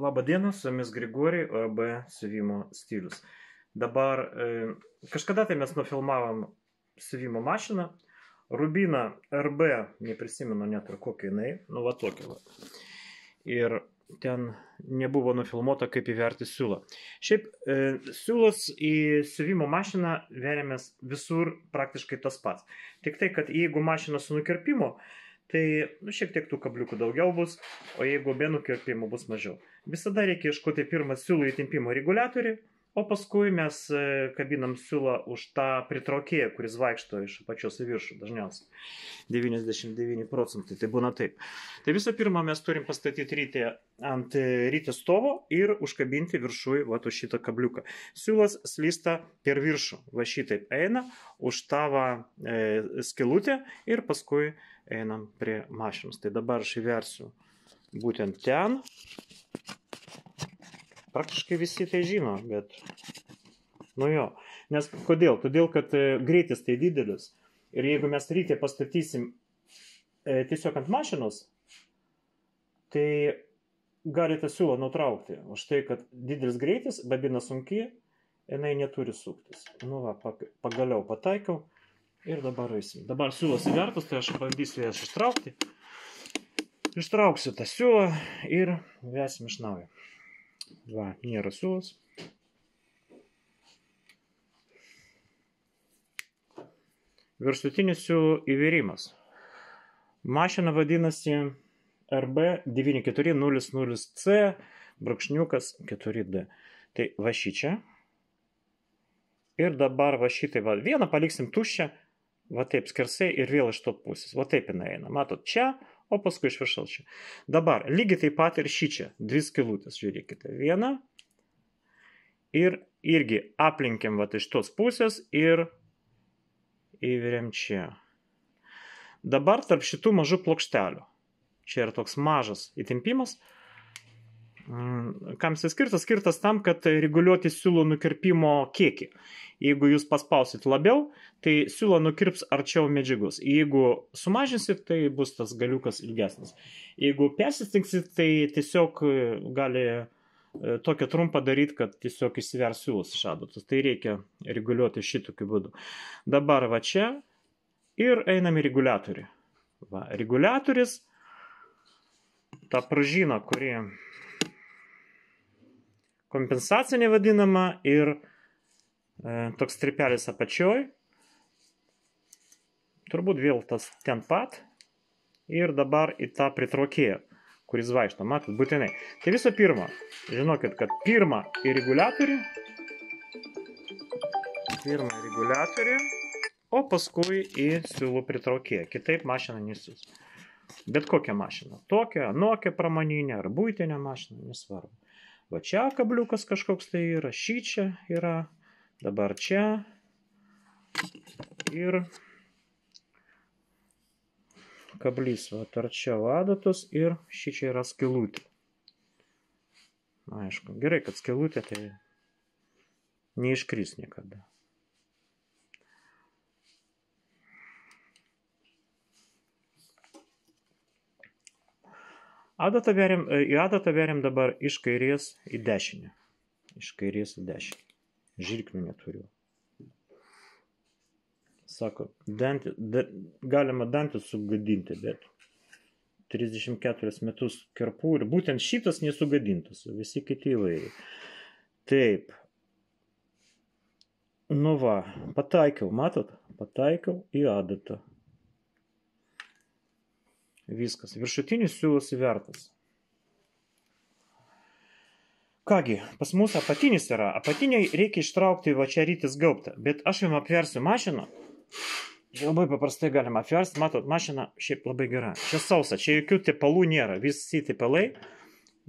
Labą dieną, su jumis Grigorij, OAB siuvimo stilius. Dabar kažkada tai mes nufilmavom siuvimo mašiną, Rubina RB, neprisimenu net ir kokia jinai, nu va tokia va. Ir ten nebuvo nufilmuota, kaip įverti siūlą. Šiaip siūlos į siuvimo mašiną veriamės visur praktiškai tas pats. Tik tai, kad jeigu mašina su nukirpimu, tai šiek tiek tų kabliukų daugiau bus, o jeigu be nukirpimo bus mažiau. Visada reikia ieškoti pirmą siūlų įtempimo reguliatorių, o paskui mes kabinam siūlą už tą pritraukėją, kuris vaikšto iš apačios į viršų dažniausiai. 99% tai būna taip. Tai visų pirma, mes turim pastatyti rytį ant rytės stovo ir užkabinti viršui va šitą kabliuką. Siūlas slysta per viršų, va šitaip eina, už tavo skylutę ir paskui einam prie mašinos. Tai dabar aš įversiu būtent ten. Praktiškai visi tai žino, bet nu jo. Nes kodėl? Todėl, kad greitis tai didelis. Ir jeigu mes rytį pastatysim tiesiog ant mašinos, tai galite siūlą nutraukti. Už tai, kad didelis greitis, babina sunki, jinai neturi suktis. Nu va, pagaliau pataikiau ir dabar eisim. Dabar siūlas įvertus, tai aš bandysiu jas ištraukti. Ištrauksiu tą siūlą ir vesim iš naujo. Va, nėra siūlas. Viršutinis siūlų įvėrimas. Mašina vadinasi RB9400C brūkšniukas 4D. Tai va šičia. Ir dabar va šitai va. Vieną paliksim tuščią, va taip skersai ir vėl iš to pusės. Va taip jinai eina. Matot, čia. O paskui iš viršaus čia. Dabar lygiai taip pat ir šičia. Dvi skylutės, žiūrėkite. Viena. Ir irgi aplinkiam va iš tos pusės ir įveriam čia. Dabar tarp šitų mažų plokštelių. Čia yra toks mažas įtempimas. Kam jis skirtas? Skirtas tam, kad reguliuoti siūlų nukirpimo kiekį. Jeigu jūs paspausit labiau, tai siūlą nukirps arčiau medžiagos. Jeigu sumažinsit, tai bus tas galiukas ilgesnis. Jeigu persistengsit, tai tiesiog gali tokią trumpą daryti, kad tiesiog išsivers siūlas iš adatos. Tai reikia reguliuoti šitokiu būdu. Dabar va čia ir einam į reguliatorių. Va, reguliatoris, ta pražina, kuri kompensacinė vadinama ir toks stripelis apačioj. Turbūt vėl tas ten pat. Ir dabar į tą pritraukėją, kuris vaikšto. Matot, būtinai. Tai visų pirma, žinokit, kad pirmą į reguliatorių. O paskui į siūlų pritraukėją. Kitaip mašina nesiūs. Bet kokią mašiną. Tokią, anokią pramoninę ar buitinę mašiną, nesvarbu. Va čia kabliukas kažkoks tai yra, šičia yra. Dabar čia ir kablys arčiau adatos ir šičia yra skylutė. Aišku, gerai, kad skylutė tai neiškris niekada. Į adatą veriam dabar iš kairės į dešinę. Iš kairės į dešinę. Žirklių neturiu. Sako, galima dantis sugadinti, bet 34 metus kerpu ir būtent šitas nesugadintas, visi kiti įvairiai. Taip. Nu va, pataikiau, matot? Pataikiau į adatą. Viskas. Viršutinis siūlas įvertas. Kągi, pas mus apatinis yra. Apatiniai reikia ištraukti va čia rytis gaubtą. Bet aš jums apversiu mašiną. Čia labai paprastai galima apversti. Matot, mašina šiaip labai gera. Čia sausa, čia jokių tepalų nėra. Visi tepalai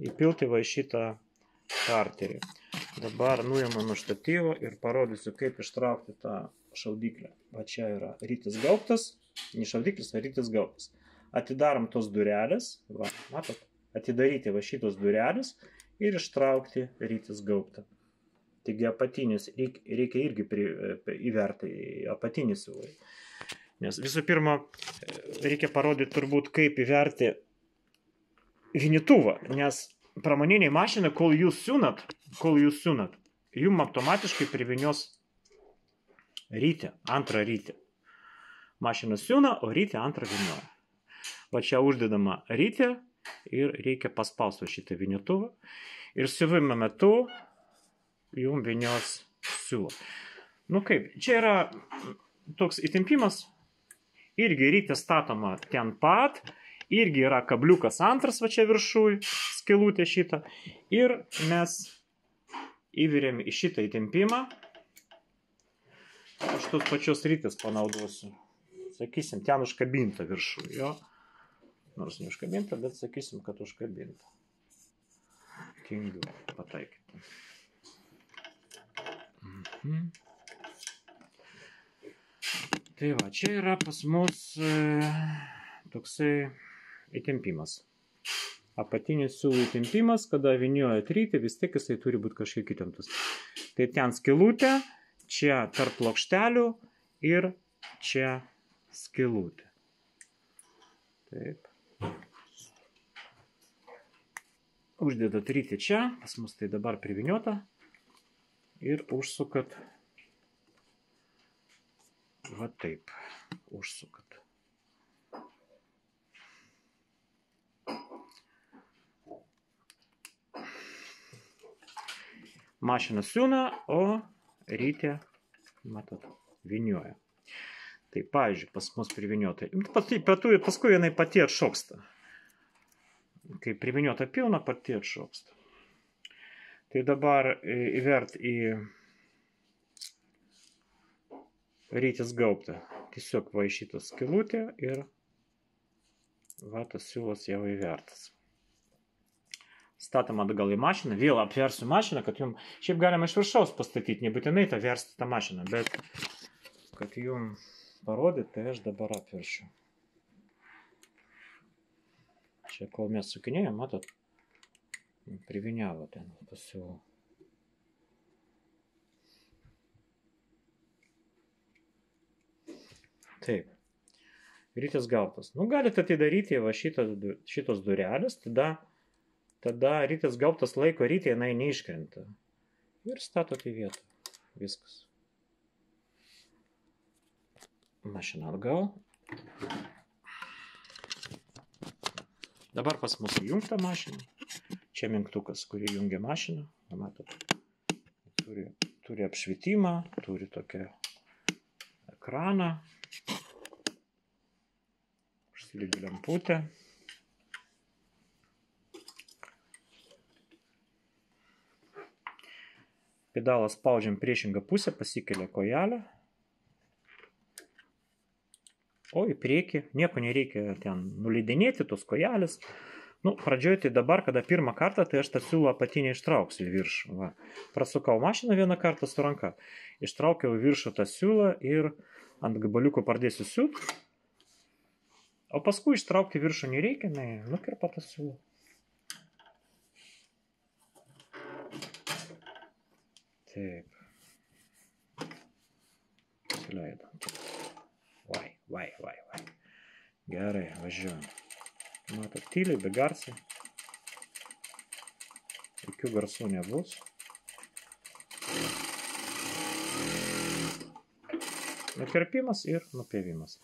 įpilti va šitą karterį. Dabar nuimu nuo štatyvo ir parodysiu, kaip ištraukti tą šaudyklę. Va čia yra rytis gaubtas. Ne šaudiklis, o rytis gaubtas. Atidarom tos durelės. Va, matot, atidaryti va šitos durelės. Ir ištraukti rytis gaubtą. Taigi apatinis reikia irgi įverti apatinį siūlą. Nes visų pirma, reikia parodyti turbūt, kaip įverti vinituvą, nes pramoniniai mašinai, kol jūs siūnat, jums automatiškai privinios rytį, antrą rytį. Mašina siūna, o rytį antrą vinioja. Va čia uždedama rytį ir reikia paspausti šitą vinietuvą. Ir siuvimo metu jums vinios siūlo. Nu kaip, čia yra toks įtempimas. Irgi rytė statoma ten pat. Irgi yra kabliukas antras va čia viršui, skylutė šitą. Ir mes įviriam į šitą įtempimą. Aš tos pačios rytės panaudosiu. Sakysim, ten užkabinta viršui, jo. Nors ne užkabinta, bet sakysim, kad užkabinta. Tingiu pataikyti. Tai va, čia yra pas mus toksai įtempimas. Apatinis siūlų įtempimas, kada vinioja rytį, vis tiek jisai turi būti kažkiek įtemptas. Tai ten skylutė, čia tarp plokštelių ir čia skylutė. Taip. Uždedat rytį čia, pas mus tai dabar priviniota. Ir užsukat. Va taip. Užsukat. Mašina siūna, o rytė, matot, vinioja. Tai, pavyzdžiui, pas mus priviniota. Paskui jinai pati atšoksta. Kai priviniota pilna, pati atšoksta. Tai dabar įvert į rytis gaubtą. Tiesiog va į šitą skylutę ir va tas siūlas jau įvertas. Statom atgal į mašiną, vėl apversiu mašiną, kad jums, šiaip galima iš viršaus pastatyti, nebūtinai tą versti tą mašiną, bet kad jums parodyti, tai aš dabar apversiu. Čia kol mes sukinėjom, matot, priviniavo ten pasiūlų. Taip, rytis gaubtas. Nu, galite atidaryti va šitos durelės, tada rytis gaubtas laiko rytį, jinai neiškrenta. Ir statot į vietą. Viskas. Mašina atgal. Dabar pas mus įjungta mašina. Čia mygtukas, kurį jungia mašiną. Matot, turi apšvietimą, turi tokią ekraną. Užsilygi lemputę. Pedalą spaudžiam priešingą pusę, pasikelia kojelę. O į priekį, nieko nereikia ten nuleidinėti tos kojelės. Nu, pradžioje tai dabar, kada pirmą kartą, tai aš tą siūlą apatinį ištrauksiu į viršų. Va. Prasukau mašiną vieną kartą su ranka. Ištraukiau į viršų tą siūlą ir ant gabaliuko pradėsiu siūt. O paskui ištraukti viršų nereikia, nukirpa tą siūlą. Taip. Suleido. Vai. Gerai, važiuojam. Matot, tyliai, be garsiai. Jokių garsų nebus. Nukirpimas ir nupėvimas.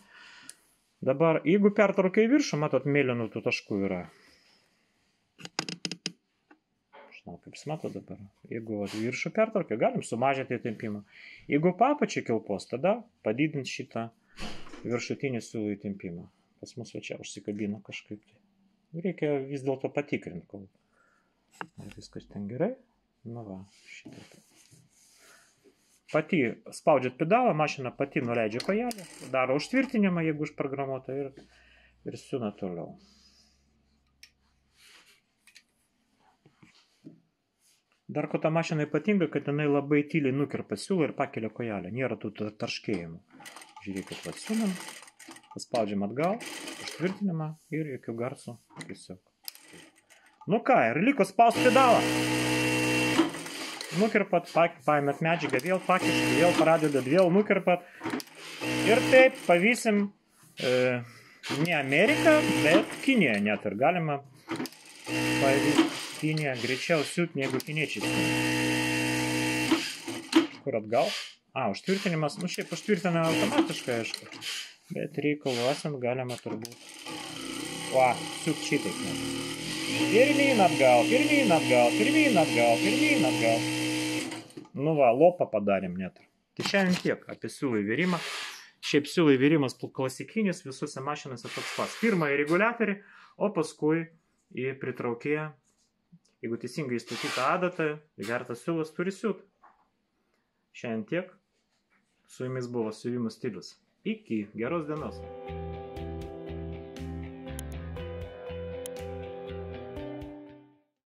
Dabar, jeigu pertraukia į viršų, matot, mėlynų tų taškų yra. Žinau, kaip jūs matot dabar. Jeigu viršų pertraukia, galim sumažinti įtempimą. Jeigu papačiai kilpos, tada padidinti šitą viršutinį siūlų įtempimą. Pas mus va čia užsikabino kažkaip. Reikia vis dėlto patikrinti, kol viskas ten gerai. Nu va, šitaip. Pati spaudžiat pedalą, mašina pati nuleidžia kojelę, daro užtvirtinimą, jeigu užprogramuota, ir siūna toliau. Dar ko ta mašina ypatinga, kad jinai labai tyliai nukirpa siūlą ir pakelia kojelę. Nėra tų tarškėjimų. Žiūrėkit, va siūnam, paspaudžiam atgal, užtvirtinimą ir jokių garsų tiesiog. Nu ką, ir liko spaust pedalą. Nukirpat, paėmėt medžiagą, vėl pakišt, vėl pradedat, vėl nukirpat. Ir taip pavysim ne Ameriką, bet Kiniją net ir galima Kinija greičiau siūt negu kiniečiai. Kur atgal? Užtvirtinimas. Nu, šiaip užtvirtinama automatiškai, aišku. Bet reikalų esant galima turbūt. Siūt šitaip. Pirmyn atgal, pirmyn atgal, pirmyn atgal, pirmyn atgal. Nu va, lopą padarėm net. Tai šiandien tiek apie siūlų įvėrimą. Šiaip siūlų įvėrimas klasikinis visose mašinose toks pats. Pirmą į reguliatorių, o paskui į pritraukėją. Jeigu teisingai įstatyta adata, įvertas siūlas turi siūt. Šiandien tiek. Su jumis buvo siuvimo stilius. Iki geros dienos.